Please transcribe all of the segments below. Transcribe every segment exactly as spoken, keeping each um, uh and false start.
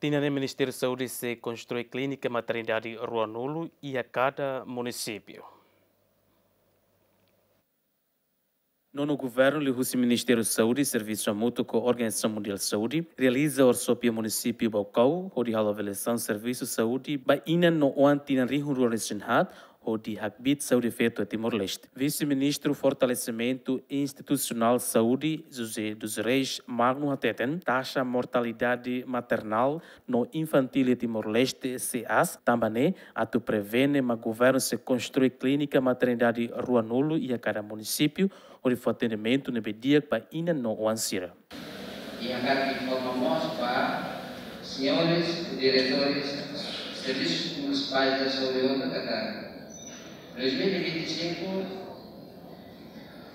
Tinan ne'e Ministériu Saúde sei konstrui klínika maternidade ruanulu iha kada munisípiu. Nono Governu liuhusi Ministériu Saúde servisu hamutuk ho Organizasaun Mundiál Saúde realiza workshop iha munisípiu Baucau, hodi halo avaliasaun servisu saúde ba inan no oan tinan rihun rua resin haat, hodi hakbiit saúde feto iha Timor-Leste. Vise-Ministru Fortalesimentu Institusionál Saúde, José dos Reis Magno hateten, taxa mortalidade maternál no infantíl iha Timor-Leste sei aas, tanba ne'e atu prevene mak governu sei konstrui klínika maternidade ruanulu iha kada munisípiu, hodi fó atendimentu ne'ebé di'ak ba inan no oan sira. I hakarak informa mós ba señores diretores servisus munisipais da saúde hotu katak dois mil e vinte e cinco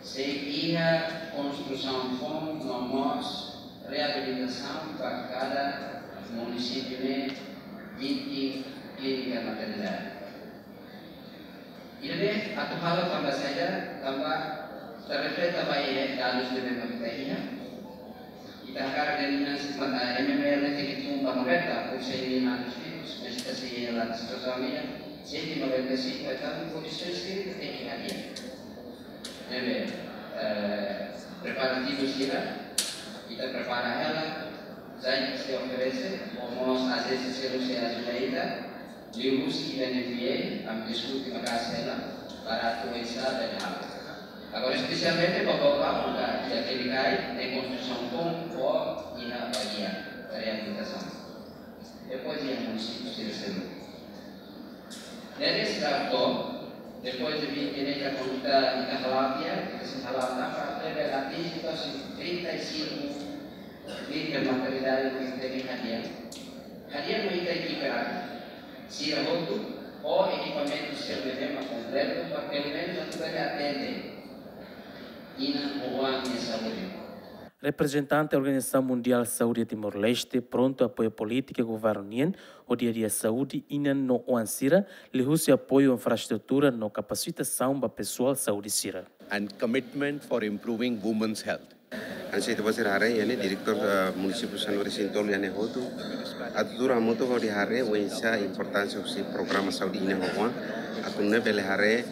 sei iha konstrusaun foun no mós reabilitasaun ba kada munisípiu ne'e vinte klínika maternidade. Ida-ne'e atu halo tanba saida, tanba ita refleta ba iha dadus ne'ebé mak ita iha. Ita hakarak dehan inan sei mata M M R ne'e tenke tun ba noventa por cento de anos vivos, mas ita sei iha la situasaun ida, cento e noventa e cinco, entaun kondisaun sira tenke hadi'a. Ne'ebé, eh, preparativu sira, ita prepara hela, zain sei oferese, ho mós ajénsia seluk sei ajuda ita, liuhusi U N F P A, ami diskute maka'as hela, para atu oinsá bele halo. Agora, espesialmente, ba Baucau, ita, ita klínika ne'e konstrusaun foun, fó iha bagian reabilitasaun. Depois iha munisípiu sira seluk. Ne'e startou, depois de vinte ne'e ita konta, ita hala'o tiha, ita sei hala'o tiha, para bele atinje to'o trinta e cinco klínika maternidade no ita tenke hadi'a. Hadi'a no ita ekipa sira hotu, ho ekipamentu sira ne'ebé mak kompletu, para pelumenus atu bele atende inan ho oan nia saúde. Reprezentante Organizasaun Mundiál Saúde Timor-Leste prontu apoia polítika governu nian hodi hadi'a saúde inan no oan sira, liuhusi apoiu infraestrutura no kapasitasaun ba pesoál saúde sira. And commitment for improving women's health. Hanesan ita-boot sira haree, iha ne'e diretór, eh, munisípiu sanulu-resin-tolu iha ne'e hotu. Atu tuur hamutuk hodi haree oinsá importánsia husi programa saúde inan ho oan. Atu nune'e bele haree,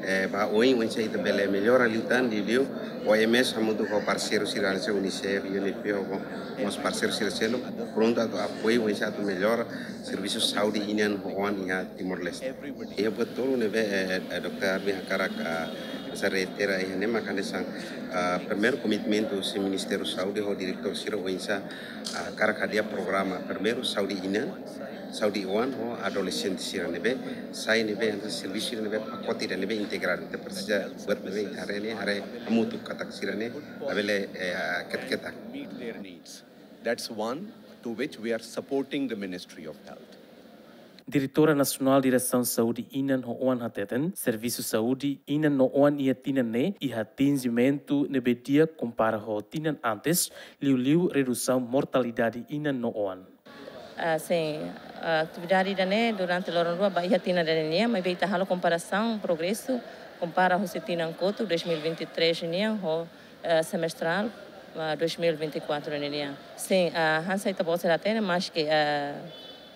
eh, ba oin oinsá ita bele mellora liután, liuliu O M S hamutuk ho parseiru sira hanesan UNICEF, U N F P A ho mós parseiru sira seluk prontu atu apoiu oinsá atu mellora servisu saúde inan ho oan iha Timor-Leste. Iha buat tolu ne'ebé, eh, eh, Dokter Armin hakarak, ah, hanesan reitera iha ne'e mak hanesan, ah, primeiru komitmentu husi Ministériu Saúde ho diretór sira oinsá, ah, hakarak hadi'a programa primeiru saúde inan, saúde oan ho adolexente sira ne'ebé sai ne'ebé hanesan servisu sira ne'ebé pakote ida ne'ebé integradu. Ita presiza buat ne'ebé ita haree ne'e, haree hamutuk katak sira ne'e labele, eh, ketak-ketak. Meet their needs. That's one to which we are supporting the Ministry of Health. Diretora Nasionál Diresaun Saúde Inan ho Oan hateten, servisu saúde inan no oan iha tinan ne'e iha atinjimentu ne'ebé di'ak kompara ho tinan antes, liuliu redusaun mortalidade inan no oan. Ah, sin, ah, atividade ida-ne'e durante loron rua ba iha tinan ida-ne'e nian, maibé ita halo komparasaun progresu, kompara husi tinan kotuk dois mil e vinte e três nian ho, eh, semestrál, ah, dois mil e vinte e quatro nian. Sin, ah, hanesan ita-boot sira hatene, maski, ah,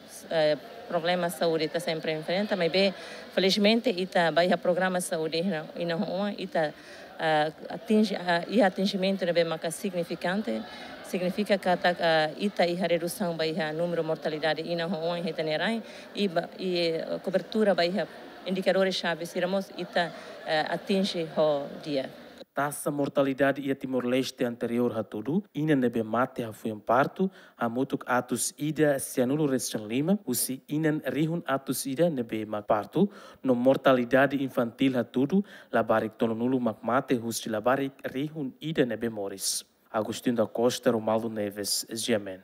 s-, eh, problema saúde ita sempre enfrenta, maibé felizmente ita ba iha programa saúde inan, inan ho oan, ita, ah, atinje, ah, iha atinjimentu ne'ebé maka signifikante, signifika katak, ah, ita iha redusaun ba iha númeru mortalidade inan ho oan iha ita-nia rain, i ba, i, eh, kobertura ba iha indikadores xave sira mós ita, eh, atinje ho di'ak. Taxa mortalidade iha Timor-Leste anteriór hatudu, inan ne'ebé mate hafoin partu hamutuk atus ida sianulu-resin-lima husi inan rihun atus ida ne'ebé mak partu, no mortalidade infantíl hatudu labarik tolunulu mak mate husi labarik rihun ida ne'ebé moris. Agostinho da Costa, Romualdo Neves, G M N.